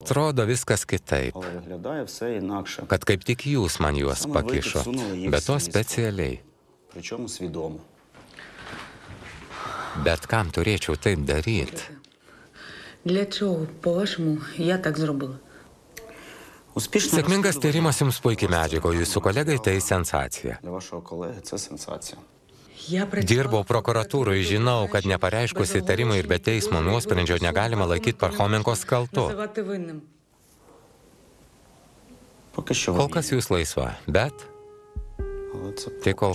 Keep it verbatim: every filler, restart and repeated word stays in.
Atrodo viskas kitaip, Але виглядає все інакше. kad kaip tik jūs man juos Саме ви pakišot, підсунули їх bet to в слідство. specialiai. Причому свідомо. Bet kam turėčiau taip daryti? Для чого, по-вашому, я так зробила? Успішне Sėkmingas розслідування tyrimas jums puikiai medžiago, jūsų kolegai tai sensacija. Для вашого колеги це сенсація. Я працювала Dirbau prokuratūroje, žinau, kad nepareiškus įtarimų ir be teismo nuosprendžio negalima laikyti Parchomenkos kaltu. називати винним. Поки що ви Kol kas jūs laisva, bet вільні. Але це tai kol